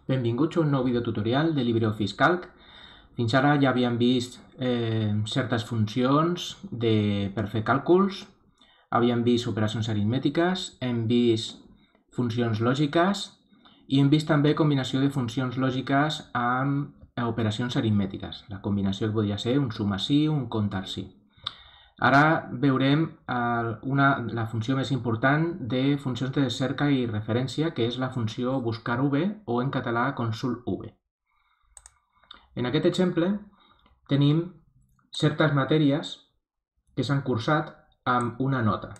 Benvinguts a un nou videotutorial de LibreOffice Calc. Fins ara ja havíem vist certes funcions per fer càlculs, havíem vist operacions aritmètiques, hem vist funcions lògiques i hem vist també combinació de funcions lògiques amb operacions aritmètiques. La combinació podria ser un suma sí, un comptar sí. Ara veurem la funció més important de funcions de cerca i referència, que és la funció buscar v o en català consult v. En aquest exemple tenim certes matèries que s'han cursat amb una nota.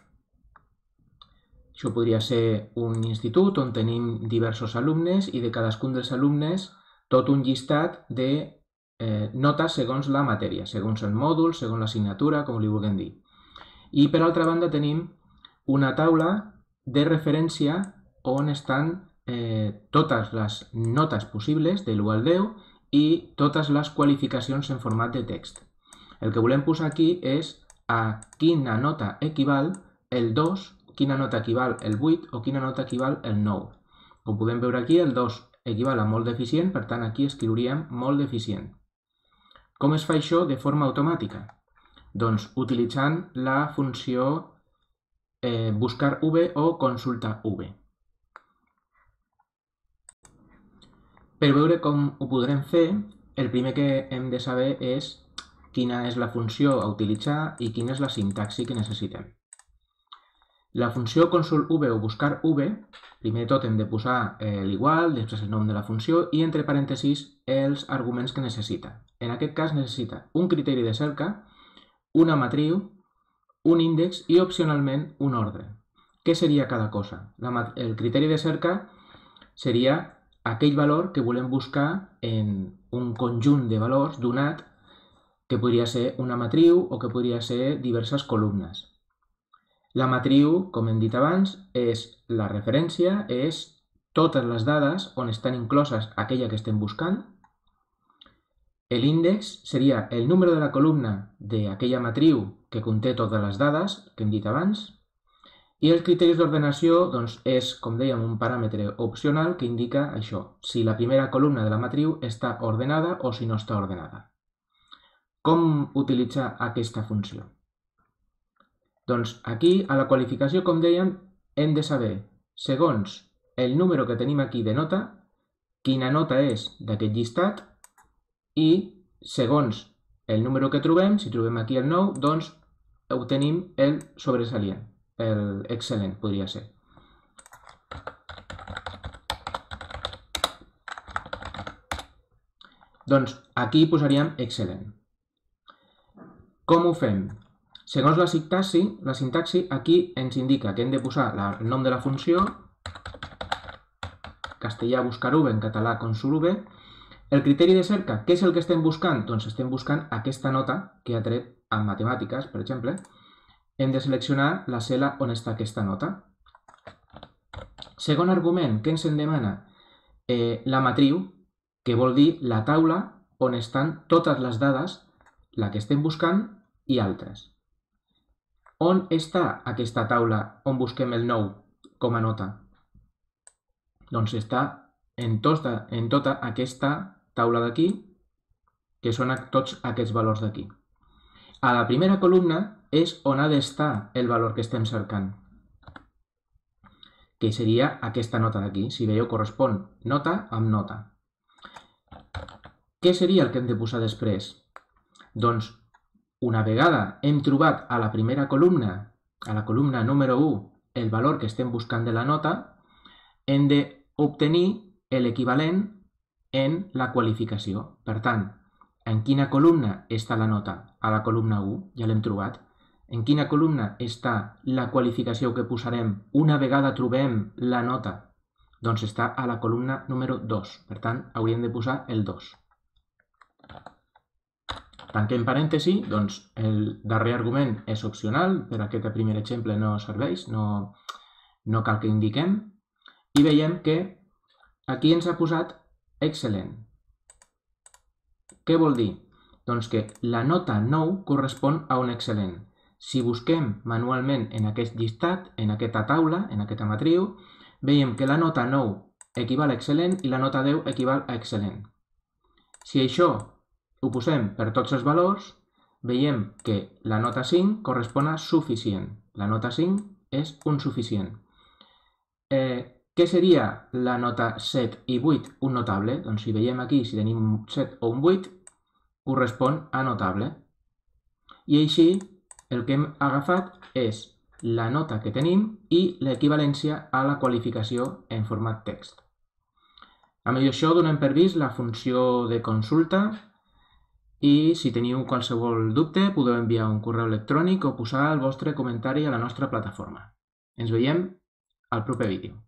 Això podria ser un institut on tenim diversos alumnes i de cadascun dels alumnes tot un llistat de notes segons la matèria, segons el mòdul, segons l'assignatura, com li vulguem dir. I per altra banda tenim una taula de referència on estan totes les notes possibles de l'1 al 10 i totes les qualificacions en format de text. El que volem posar aquí és a quina nota equival el 2, quina nota equival el 8 o quina nota equival el 9. Com podem veure aquí, el 2 equival a molt deficient, per tant aquí escriuríem molt deficient. Com es fa això de forma automàtica? Doncs utilitzant la funció buscar v o consulta v. Per veure com ho podrem fer, el primer que hem de saber és quina és la funció a utilitzar i quina és la sintaxi que necessitem. La funció consult v o buscar v, primer de tot hem de posar l'igual, després el nom de la funció i entre parèntesis els arguments que necessita. En aquest cas necessita un criteri de cerca, una matriu, un índex i opcionalment un ordre. Què seria cada cosa? El criteri de cerca seria aquell valor que volem buscar en un conjunt de valors donat que podria ser una matriu o que podria ser diverses columnes. La matriu, com hem dit abans, és la referència, és totes les dades on estan incloses aquella que estem buscant. L'índex seria el número de la columna d'aquella matriu que conté totes les dades que hem dit abans. I els criteris d'ordenació és, com dèiem, un paràmetre opcional que indica això, si la primera columna de la matriu està ordenada o si no està ordenada. Com utilitzar aquesta funció? Doncs aquí, a la qualificació, com dèiem, hem de saber, segons el número que tenim aquí de nota, quina nota és d'aquest llistat i, segons el número que trobem, si trobem aquí el 9, doncs obtenim el sobresalient, el excel·lent, podria ser. Doncs aquí posaríem excel·lent. Com ho fem? Segons la sintaxi, aquí ens indica que hem de posar el nom de la funció, castellà buscar v, en català consult v. El criteri de cerca, què és el que estem buscant? Doncs estem buscant aquesta nota que ha tret en matemàtiques, per exemple. Hem de seleccionar la cel·la on està aquesta nota. Segon argument, què ens en demana? La matriu, que vol dir la taula on estan totes les dades, la que estem buscant i altres. On està aquesta taula on busquem el 9 com a nota? Doncs està en tota aquesta taula d'aquí, que són tots aquests valors d'aquí. A la primera columna és on ha d'estar el valor que estem cercant, que seria aquesta nota d'aquí. Si veieu, correspon nota amb nota. Què seria el que hem de posar després? Doncs, una vegada hem trobat a la primera columna, a la columna número 1, el valor que estem buscant de la nota, hem d'obtenir l'equivalent en la qualificació. Per tant, en quina columna està la nota? A la columna 1, ja l'hem trobat. En quina columna està la qualificació que posarem una vegada trobem la nota? Doncs està a la columna número 2. Per tant, hauríem de posar el 2. Tanquem parèntesi, doncs el darrer argument és opcional, per aquest primer exemple no serveix, no cal que indiquem. I veiem que aquí ens ha posat excel·lent. Què vol dir? Doncs que la nota 9 correspon a un excel·lent. Si busquem manualment en aquest llistat, en aquesta taula, en aquesta matriu, veiem que la nota 9 equival a excel·lent i la nota 10 equival a excel·lent. Si això ho posem per tots els valors, veiem que la nota 5 correspon a suficient. La nota 5 és un suficient. Què seria la nota 7 i 8? Un notable. Doncs si veiem aquí, si tenim un 7 o un 8, correspon a notable. I així el que hem agafat és la nota que tenim i l'equivalència a la qualificació en format text. Amb això donem per vist la funció de consulta i si teniu qualsevol dubte podeu enviar un correu electrònic o posar el vostre comentari a la nostra plataforma. Ens veiem al proper vídeo.